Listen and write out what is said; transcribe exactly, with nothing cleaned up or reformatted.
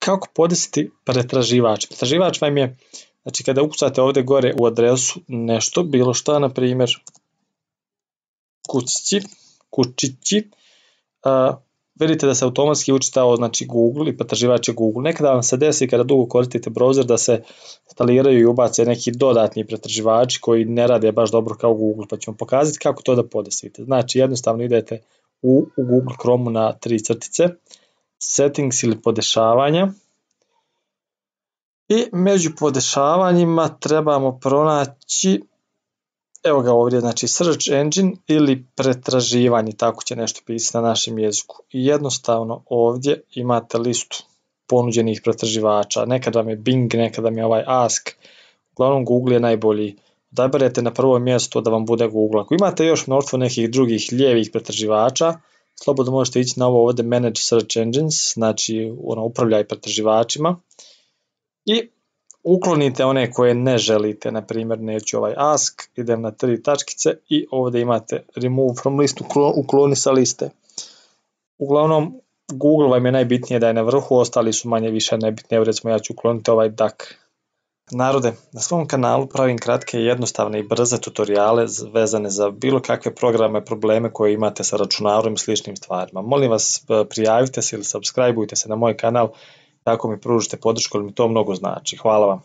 kako podesiti pretraživač. Pretraživač vam je, znači kada ukucate ovdje gore u adresu nešto, bilo šta, na primjer kućići, kućići, uh, vidite da se automatski učitao znači Google i pretraživač je Google. Nekada vam se desi kada dugo koristite browser da se instaliraju i ubace neki dodatni pretraživači koji ne rade baš dobro kao Google, pa ću vam pokazati kako to da podesite. Znači jednostavno idete u, u Google Chrome na tri crtice, settings ili podešavanja, i među podešavanjima trebamo pronaći, evo ga ovdje, znači search engine ili pretraživanje, tako će nešto pisati na našem jeziku. I jednostavno ovdje imate listu ponuđenih pretraživača. Nekada vam je Bing, nekada vam je ovaj Ask. Uglavnom Google je najbolji. Odaberete na prvo mjesto da vam bude Google. Ako imate još mnoštvo nekih drugih lijevih pretraživača, slobodno možete ići na ovo ovdje Manage Search Engines, znači ono, upravljaj pretraživačima, i uklonite one koje ne želite, na primjer neću ovaj Ask, idem na tri tačkice i ovdje imate Remove from list, ukloni sa liste. Uglavnom Google vam je najbitnije da je na vrhu, ostali su manje više nebitni, evo recimo ja ću ukloniti ovaj Duck. Narode, na svom kanalu pravim kratke, jednostavne i brze tutoriale vezane za bilo kakve programe, probleme koje imate sa računarom i sličnim stvarima. Molim vas, prijavite se ili subscribeujte se na moj kanal, tako mi pružite podršku jer mi to mnogo znači. Hvala vam.